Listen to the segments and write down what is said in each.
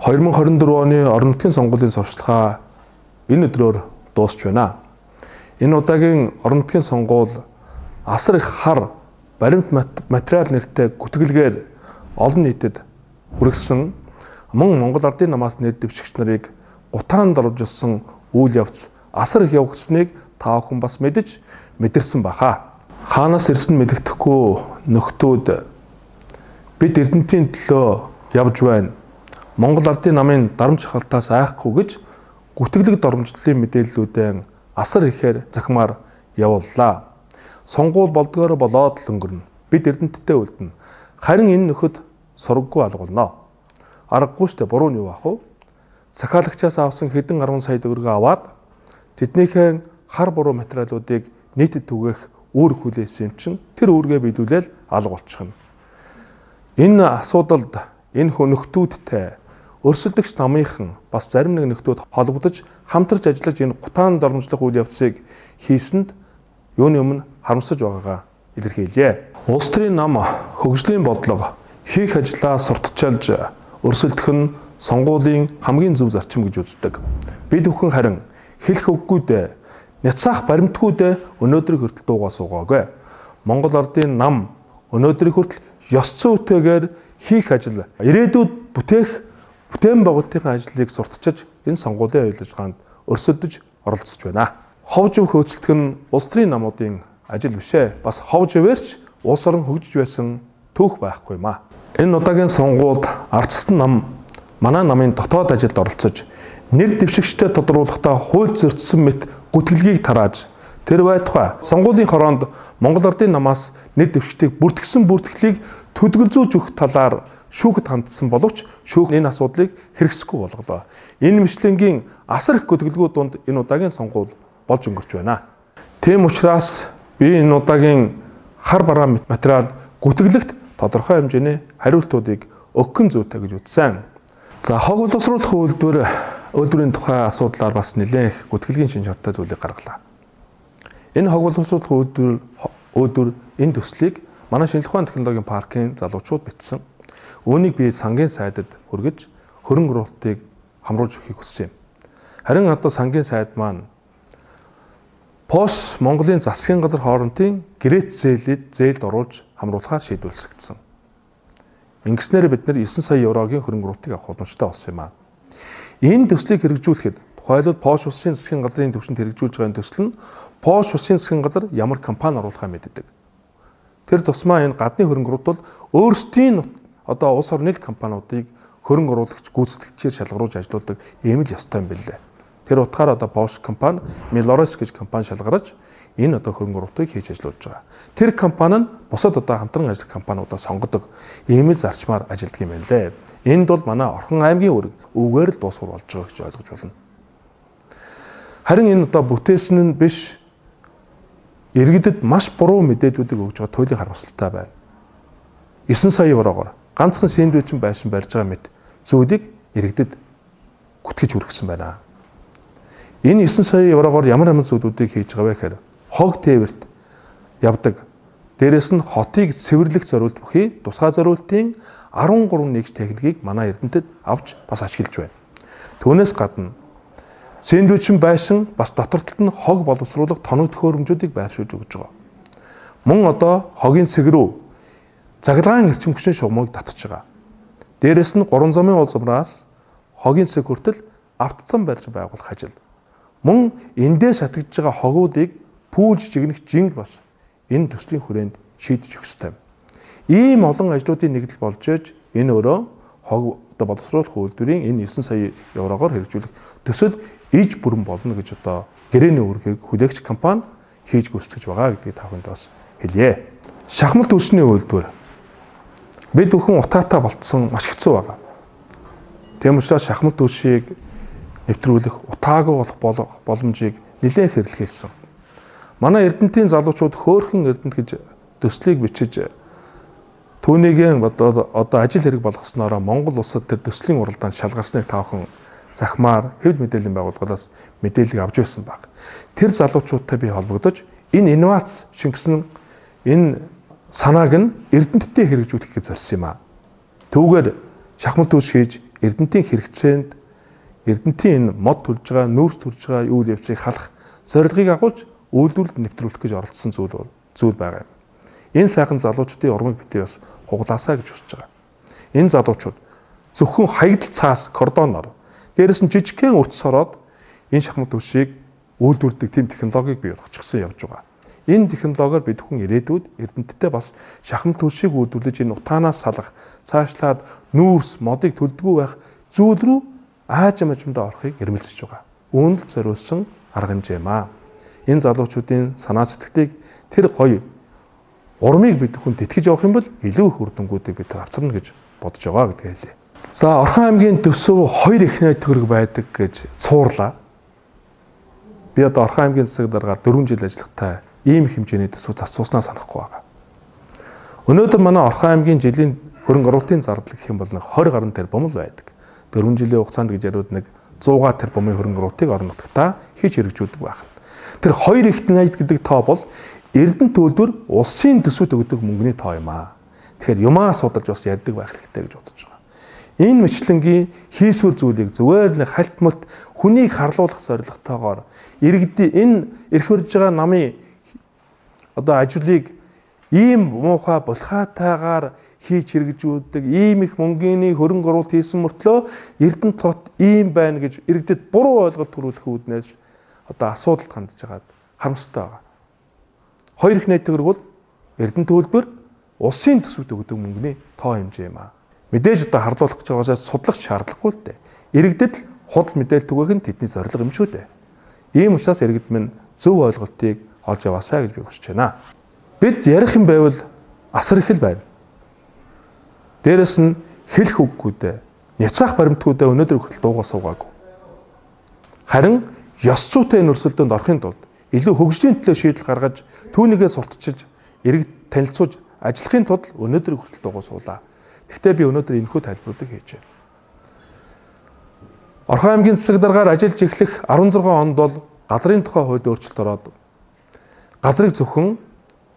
2024 оны орон нутгийн сонгуулийн сурталчилгаа энэ өдрөөр дуусч байна. Энэ удаагийн орон нутгийн сонгуул асар их хар баримт материал нэртэй гүтгэлгээр олон нийтэд хүргэсэн мөн Монгол Ардын намаас нэр дэвшигч нарыг гутаанд оруулсан үйл явц асар их явагдсныг та бүхэн бас мэдэрсэн баха. Хаанаас ирсэн мэддэхгүй нөхдүүд бид Эрдэнэтийн төлөө явж байна. Монгол Ардын намын дарамт шахалтаас айхгүй гэж гүтгэлэг доромжлолын мэдээллүүдэн асар ихээр захимаар явууллаа. Сонгуул болдгоор болоод л өнгөрнө. Бид Эрдэнэттэй үлдэнэ. Харин энэ нөхөд сургаггүй алгуулна. Аргагүй штэ буруу нь юу ах вэ? Захиалагчаас авсан хэдэн 10 сая төгрөгөө аваад тэднийхээ хар буруу материалуудыг нийтэд түгээх үүрэг хүлээсэн юм чинь тэр үүргээ биелүүлэл алга болчихно. Энэ асуудалд энэ нөхдүүдтэй өрсөлдөгч намынхан бас зарим нэг нөхдүүд холбогдож хамтарч ажиллаж энэ гутаан дормжлох үйл явцыг хийсэнд юуны өмнө харамсаж байгаагаа илэрхийлье. Улс төрийн нам хөгжлийн бодлого хийх ажлаа сурталчилж өрсөлдөх нь сонгуулийн хамгийн зөв зарчим гэж үздэг. Бид бүхэн харин хэлэх үггүйдээ няцаах баримтгүйдээ өнөөдрийг хүртэл дуугаа суугаагүй. Монгол Ардын нам өнөөдрийг хүртэл ёс зүйтэйгээр хийх ажил ирээдүйд бүтээн байгуулалтын ажлыг сурталчилж энэ сонгуулийн үйл ажиллагаанд өрсөлдөж оролцож байна. Ховж өв хөөцөлдөх нь улс төрийн намуудын ажил биш ээ. Бас ховж өвөрч улс орон хөгжиж байсан түүх байхгүй юм а. Энэ удаагийн сонгуульд ардчсан нам манай намын дотоод ажилд оролцож нэр дэвшигчтэй тодруулахдаа хууль зөрчсөн мэт гүтгэлгийг тарааж тэр байтугай сонгуулийн хороонд Монгол Ардын намаас нэр дэвшигчдийг бүртгэлийг төдгөлзүүлж өгөх талаар шүүхэд хандсан боловч шүүх энэ асуудлыг хэрэгсэхгүй болголоо. Энэ мэтлэнгийн асар их гүтгэлгүүд донд энэ удаагийн сонгуул болж өнгөрч байна. Тийм учраас би энэ удаагийн хар бараа материал гүтгэлэгт тодорхой хэмжээний хариултуудыг өгөх зүйтэй гэж үзсэн. За хог боловсруулах үйлдвэрийн тухай асуудлаар бас нэлээд их гүтгэлгийн шинж чанартай зүйлийг гаргалаа. Энэ хог боловсруулах үйлдвэр энэ төслийг манай шинжлэх ухааны технологийн паркийн залуучууд бичсэн. Үүнийг би сангийн сайдад хүргэж хөрөнгө оруулалтыг хамруулж өгөхийг хүссэн юм. Харин одоо сангийн сайд маань ПОС Монголын засгийн газар хоорондын гэрээт зээлд оруулж хамруулахаар шийдвэрлэгдсэн. Ингэснээр бид нэр 9 сая еврогийн хөрөнгө оруулалтыг авах боломжтой болсон юм а. Энэ төслийг хэрэгжүүлэхэд тухайлбал ПОС улсын засгийн газрын төвшөнд хэрэгжүүлж байгаа төсөл нь ПОС улсын засгийн газар ямар компани оруулахаа мэддэг. Тэр тусмаа энэ гадны хөрөнгө оруулалт бол өөрсдийн одоо улс орны компаниудыг хөрөнгө оруулагч гүйцэтгэгчээр шалгаруулж ажилуулдаг ийм л ёстой юм билээ. Тэр утгаараа одоо Bosch компани, Milores гэж компани шалгарч энэ одоо хөрөнгө оруулалтыг хийж ажиллаж байгаа. Тэр компани нь бусад одоо хамтран ажиллах компаниудаа сонгодог ийм л зарчмаар ажилладаг юм байна лээ. Энд бол манай Орхон аймгийн үүрэг үгээр л дуусгар болж байгаа гэж ойлгож байна. Харин энэ одоо бүтээсэн нь биш иргэдэд маш буруу мэдээллүүдийг өгж байгаа туйлын харамсалтай байна. 9 сая еврогоор ганцхан сэндвич байшин барьж байгаа мэт зүйлийг иргэдэд гүтгэж хүргэсэн байна. Энэ 9 сая еврогоор ямар зүйлүүдийг хийж байгаа вэ гэхээр хог тээвэрт явдаг. Дээрээс нь хотыг цэвэрлэх зориулт бүхий тусгай зориултын 13 нэгж техникийг манай Эрдэнэтэд авч бас ашиглаж байна. Түүнээс гадна сэндвич байшин бас дотортолд нь хог боловсруулах тоног төхөөрөмжүүдийг байршуулж өгж байгаа. Мөн одоо хогийн цэг рүү заглагын эрчим хүчний шугамыг татж байгаа. Дээрээс нь 3 замын улсамраас хогийн цэг хүртэл автозам барьж байгуулах ажил. Мөн эндээс шатгаж байгаа хогуудыг пүүлж жигнэх жинг бас энэ төслийн хүрээнд шийдэж өгөх ёстой. Ийм олон ажлуудын нэгдэл болж ээж энэ өөрөө хог боловсруулах үйлдвэрийн энэ 9 сая еврогоор хэрэгжүүлэх төсөл иж бүрэн болно гэж одоо гэрээний үүргийг хүлээгч компани хийж гүйцэтгэж байгаа гэдгийг та бүхэнд бас хэлье. Шахмал түлшний үйлдвэр бид бүхэн утаатай болцсон маш хэцүү байгаа. Тийм учраас шахмал түлшийг нэвтрүүлэх утаагүй болох боломжийг нэлээд хэрэглэсэн. Манай Эрдэнэтийн залуучууд хөөхөн Эрдэнэт гэж төслийг бичиж түүнийгээ одоо ажил хэрэг болгосноор Монгол улсад тэр төслийн уралдаанд шалгарсныг таавхан захимаар хэвлэл мэдээллийн байгууллагаас мэдээлэл авч байсан баг. Тэр залуучуудтай би холбогдож энэ инновац шингэсэн энэ санааг нь Эрдэнэттэй хэрэгжүүлэхийг зорьсон юм а. Түүгээр шахмал түлш хийж Эрдэнтийн хэрэгцээнд Эрдэнтийн энэ мод төрж байгаа, нүүрс төрж байгаа үйл явцыг халах зорилгыг агуулж үйлдвэрлэлд нэвтрүүлэх гэж оролцсон зүйл байгаа юм. Энэ сайхан залуучуудын урмыг битгий бас хуглаасаа гэж хүсэж байгаа. Энэ залуучууд зөвхөн хаягдл цаас кордоноор дээрэс нь жижигхэн үрц сороод энэ шахмал түвшийг үйлдвэрлэдэг тийм технологиг бий болгочихсон явж байгаа. Энэ технологиор бид хүн ирээдүйд Эрдэнэттэй бас шахмал түвшийг үйлдвэрлэж энэ утаанаас салах, цаашлаад нүүрс, модыг төлдгөө байх зүйл рүү аажимдаа орохыг эрмэлзэж байгаа. Үүнд л зориулсан арга хэмжээ маа. Энэ залуучуудын санаа сэтгэлийг тэр гоё урмыг бид хүн тэтгэж явах юм бол илүү их үр дүнгуудыг бид авчирна гэж бодож байгаа гэдгээ хэлье. За Орхон аймгийн төсөв 2 эхнээ төгрөг байдаг гэж цуурлаа. Би одоо Орхон аймгийн засаг даргаар 4 жил ажиллахтаа ийм их хэмжээний төсөв зарцуулснаа санахгүй байгаа. Өнөөдөр манай Орхон аймгийн жилийн хөрөнгө оруулалтын зардал гэх юм бол 20 гаруй тэрбум л байдаг. 4 жилийн хугацаанд гэж яриуд нэг 100 тэрбумын хөрөнгө оруулалтыг орон нутгатаа хийж хэрэгжүүлдэг байх. Тэр 2 эхнээ гэдэг тоо бол Эрдэнэт төлбөр улсын төсвөд өгдөг мөнгөний тоо юм аа. Тэгэхээр юмаа судалж бас ярьдаг байх хэрэгтэй гэж бодож байгаа. Энэ мэтлэнгийн хийсвэр зүйлийг зүгээр л хальт мөлт хүнийг харлуулах зорилготойгоор иргэдийн энэ эрх барьж байгаа намын одоо ажлыг ийм муухай булхаатайгаар хийж хэрэгжүүлдэг, ийм их мөнгөний хөрөнгө оруулалт хийсэн мөртлөө Эрдэнэт тот ийм байна гэж иргэдэд буруу ойлголт төрүүлэх үүднээс одоо асуудалд хандж байгаад харамсалтай байгаа. 2 эхнээ төгрөг бол Эрдэнэт төлбөр улсын төсвөд өгдөг мөнгөний тоо хэмжээ юм аа. Мэдээж одоо харлуулах гэж байгаасаа судлах шаардлагагүй л дээ. Иргэдэд л худал мэдээлэл түгээх нь тэдний зорилго юм шүү дээ. Ийм учраас иргэд минь зөв ойлголтыг олж яваасаа гэж би хүсэж байна. Бид ярих юм байвал асар их л байна. Дээрэс нь хэлэх үггүйдээ, няцаах баримтгүйдээ өнөөдөр хүртэл дуугаа суугаагүй. Харин ёс зүйтэй нөрсөлдөөнд орохын тулд илүү хөгжлийн төлөө шийдэл гаргаж түүнийгээ сурталчилж иргэд танилцуулж ажиллахын тулд өнөөдөр хүртэл дуугаа суулаа. Гэхдээ би өнөөдөр энэхүү тайлбаруудыг хийж байна. Орхон аймгийн засаг даргаар ажиллаж эхлэх 16 онд бол газрын тухай хуульд өөрчлөлт ороод газрыг зөвхөн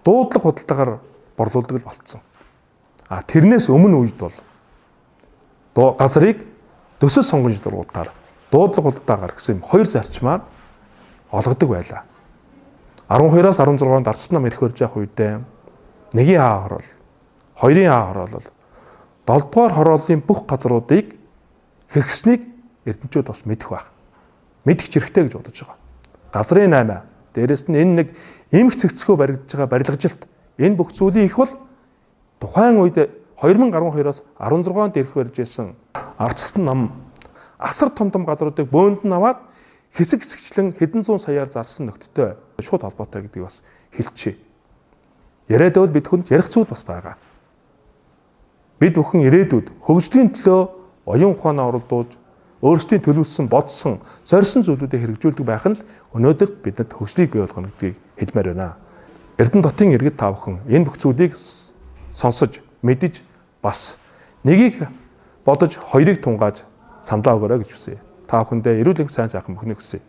дуудлага худалдаагаар борлуулдаг л болцсон. Тэрнээс өмнө үед бол газрыг төсөл сонгож дургуудаар дуудлага худалдаагаар гэсэн 2 зарчмаар олгодог байлаа. 12-аас 16 онд ардчилсан нам эрх барьж явах үедээ 1-ийн А хороол, 2-ийн А хороол 7 дугаар хорооллын бүх газруудыг хэрэгснийг эрдэмтчүүд бас мэдэх байх. Мэдэх хэрэгтэй гэж бодож байгаа. Газрын 8, дээрэс нь энэ нэг эмх цэгцгөө баригдаж байгаа барилгажилт энэ бүх зүйлийн их бол тухайн үед 2012-оос 16 онд эрх барьж байсан ардчилсан нам асар том газруудыг бөөндөнд аваад хэсэг хэсэгчлэн хэдэн зуун саяар зарсан нөхдөдтэй шууд холбоотой гэдгийг бас хэлчихье. Яриад байвал бид хүнд ярих зүйл бас байгаа. Бид бүхэн ирээдүйд хөгжлийн төлөө оюун ухаанаа оролдуулж өөрсдийн төлөвлөсөн, бодсон, зорьсон зүйлүүдийг хэрэгжүүлдэг байх нь өнөөдөр бидэнд хөгжлийг бий болгоно гэдгийг хэлмээр байна. Эрдэнэт хотын иргэд та бүхэн энэ бүх зүйлийг сонсож, мэдэж бас нэгийг бодож хоёрыг тунгааж самлаа өгөөрэй гэж хүсье. Та бүхэндээ эрүүл энх сайн сайхан бүхнийг хүсье.